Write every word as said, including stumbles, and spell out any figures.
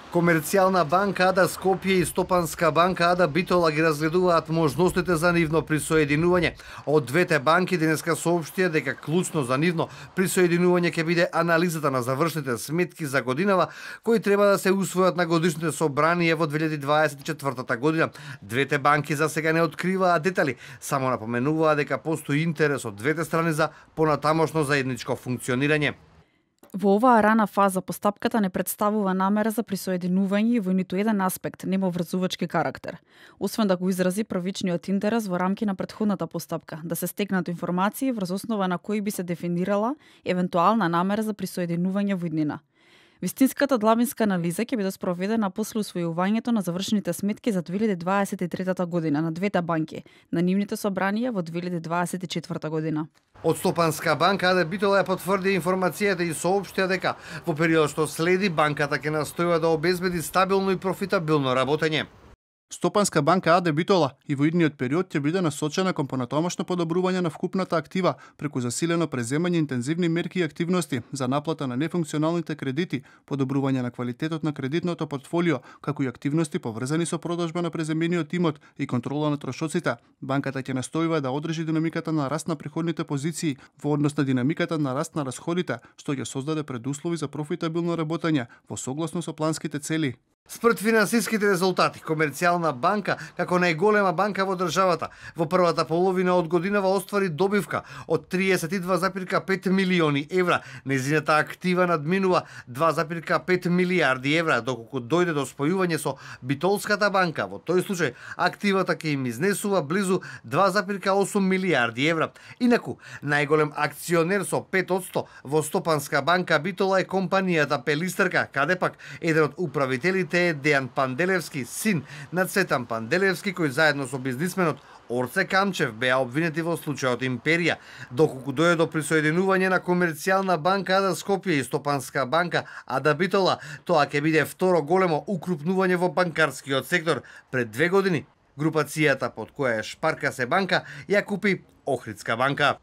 Комерцијална банка Ада Скопје и Стопанска банка Ада Битола ги разгледуваат можностите за нивно присоединување. Од двете банки денеска соопштија дека клучно за нивно присоединување ќе биде анализата на завршните сметки за годинава, кои треба да се усвојат на годишните собранија во две илјади дваесет и четвртата година. Двете банки за сега не откриваат детали, само напоменуваа дека постои интерес од двете страни за понатамошно заедничко функционирање. Во оваа рана фаза постапката не представува намера за присоединување и во ниту еден аспект нема врзувачки карактер. Освен да го изрази првичниот интерес во рамки на претходната постапка, да се стекнат информации врз основа на кои би се дефинирала евентуална намера за присоединување во иднина. Вистинската длабинска анализа ќе биде спроведена после усвојувањето на завршените сметки за две илјади дваесет и трета година на двете банки, на нивните собранија во две илјади дваесет и четврта година. Од Стопанска банка Ада Битола ја потврди информацијата и соопштија дека во период што следи банката ќе настојува да обезбеди стабилно и профитабилно работење. Стопанска банка Ада Битола и во идниот период ќе биде насочена кон понатомашно подобрување на вкупната актива преку засилено преземање интензивни мерки и активности за наплата на нефункционалните кредити, подобрување на квалитетот на кредитното портфолио, како и активности поврзани со продажба на преземениот имот и контрола на трошоците. Банката ќе настојува да одржи динамиката на раст на приходните позиции во однос на динамиката на раст на расходите, што ќе создаде предуслови за профитабилно работење во согласно со планските цели. Според финансиските резултати, Комерцијална банка, како најголема банка во државата, во првата половина од годинава оствари добивка од триесет и два запирка пет милиони евра. Незината актива надминува два запирка пет милијарди евра, доколку дојде до спојување со Битолската банка. Во тој случај, активата ќе им изнесува близу два запирка осум милијарди евра. Инаку, најголем акционер со пет одсто во Стопанска банка Битола е компанијата Пелистерка, каде пак еден од управителите е Дејан Панделевски, син на Цветан Панделевски, кој заедно со бизнисменот Орце Камчев беа обвинети во случајот Империја. Доколку дојде до присоединување на Комерцијална банка Ада Скопје и Стопанска банка Ада Битола, тоа ќе биде второ големо укрупнување во банкарскиот сектор. Пред две години, групацијата под која е Шпарка се банка ја купи Охридска банка.